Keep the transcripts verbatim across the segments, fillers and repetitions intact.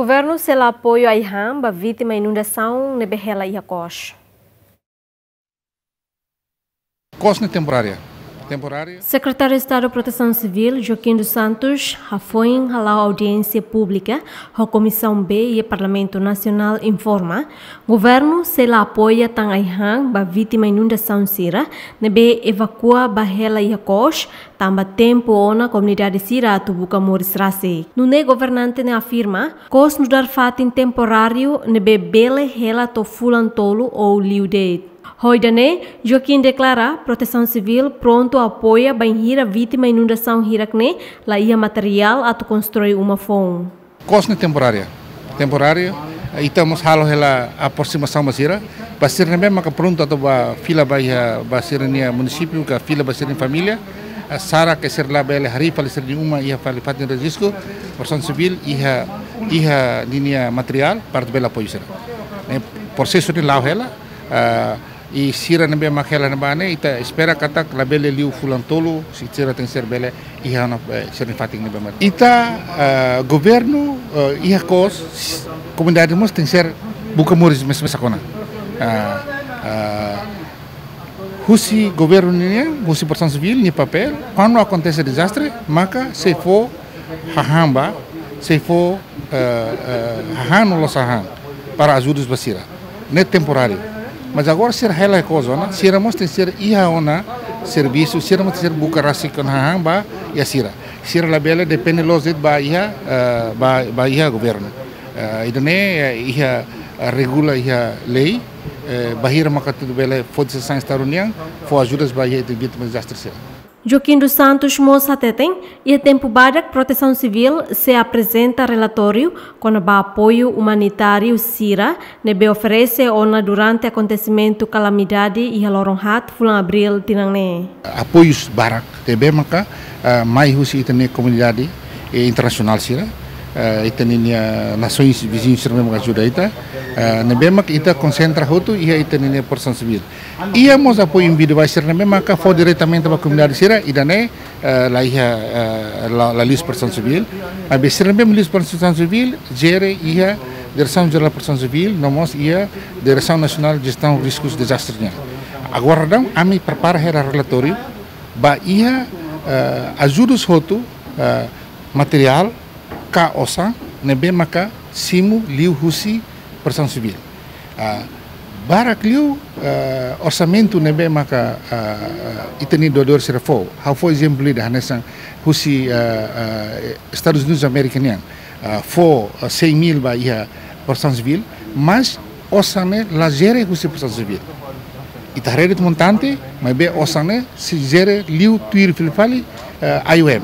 Governu sela apoiu ai-han ba vítima inundasaun ne'ebé hela iha Kos. Kos ne'e temporária. Temporária. Sekretáriu Estadu Protesaun Sivíl, Joaquim dos Santos, hafoin hala'o audiénsia públika ho Komisaun B iha Parlamentu Nasionál, informa, governu sela apoia tan ai-han ba vítima inundasaun sira ne'ebé evakua ba hela iha Kos, tanba tempu ona komunidade sira atu buka moris rasik. Nune'e governante ne'e afirma, Kos nu'udar fatin temporáriu ne'ebé bele hela to'o fulan tolu ou liu de'it. Ho ida-ne'e, Joaquim deklara Protesaun Sivíl prontu apoia bainhira vítima inundasaun hirak-ne'e la iha materiál atu konstrui uma foun. Kos ne'e temporária. Temporária, ita mós halo hela aproximasaun ba sira. Ba sira ne'ebé maka prontu atu ba fila ba iha, ba sira-nia munisípiu, ka fila ba sira-nia família. Ah, sara ke sira labele harii fali sira-nia uma iha fali fatin risku, Protesaun Sivíl iha, iha ninia materiál para bele apoiu sira. Ne'e prosesu ne'e la'o hela, ah, i sira ne'ebé mak hela ne'ebá ne'e, ita espera katak labele liu fulan tolu, si sira tenkesér bele iha ona, eh, sira-nia fatin ne'ebé mak. Ita, eh, governu, eh, iha Kos, komunidade mós tenkesér buka moris mesak-mesak ona. Ah, ah, husi governu nian, husi Protesaun Sivíl nia papél, kuandu akontese dezastre, maka sei fó hahán ba, sei fó, eh, eh, hahán no loos hahán para ajuda ba sira. Ne'e temporáriu. Mas agora sira hela iha Kos ona, sira mós tenkesér iha ona servisu, sira mós tenkesér buka rasik ona hahán ba iha sira. Sira labele depende loos de'it ba iha, eh, ba, ba iha governu. Eh, ida-ne'e, eh, iha, eh, regula iha lei, eh, bainhira maka atu bele fó sasán Estadu nian, fó ajuda ba iha vítima dezastre sira. Joaquim dos Santos mós hateten, iha tempu badak Protesaun Sivíl sei aprezenta relatóriu kona-ba apoiu umanitáriu sira ne'ebé oferese ona durante akontesimentu kalamidade iha loron haat fulan Abríl tinan ne'e. Apoius barak, ne'ebé maka, ah, mai husi ita-nia komunidade, eh, internasionál sira, eh, ita-nia nasoins viziñu sira ne'ebé maka ajuda ita, eh, ne'ebé maka ita konsentra hotu iha ita-nia Protesaun Sivíl. Iha mós apoiu individuál sira ne'ebé maka fó diretamente ba komunidade sira, ida-ne'e, eh, la iha, eh, la, la liuhusi Protesaun Sivíl. Maibé sira ne'ebé liuhusi Protesaun Sivíl, jere iha Diresaun Jerál Protesaun Sivíl, no mós iha Diresaun Nasionál Jestaun Riskus Dezastre nian. Agora daudaun, ami prepara hela relatóriu, ba iha, eh, ajudus hotu, eh, materiál, ka osan, ne'ebé maka simu liuhusi Protesaun Sivíl. Ah, barak liu, ah, orsamentu ne'ebé maka, ah, ah, ita-nia doadór sira fó. Ha'u fó ezemplu ida hanesan husi, ah, ah, Estadus Unidus Amérika nian. Ah, fó, ah, cem mil ba iha Protesaun Sivíl, mas osan ne'e la jere husi Protesaun Sivíl. Ita haree de'it montante, maibé osan ne'e sei jere liu tuir fila fali, eh, I O M.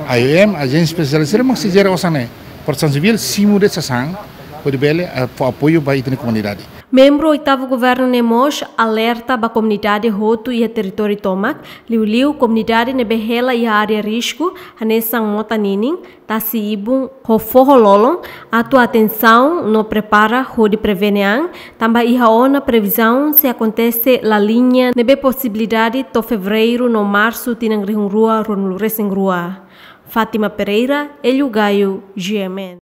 I O M, ajénsia espesiál sira mak sei jere osan ne'e. Protesaun Sivíl simu de'it sasán, hodi bele, eh, fó apoiu ba ita-nia komunidade. Membru oitavu governu ne'e mós alerta ba komunidade hotu iha territóriu tomak, liuliu komunidade ne'ebé hela iha área risku, hanesan mota ninin, tasi ibun, ho foho lolon, atu atensaun no prepara hodi prevene an, tanba iha ona previzaun sei akontese La Niña ne'ebé posibilidade to'o Fevereiru no Marsu tinan rihun rua ruanulu resin rua. Fátima Pereira, Hélio Gaio, G M N.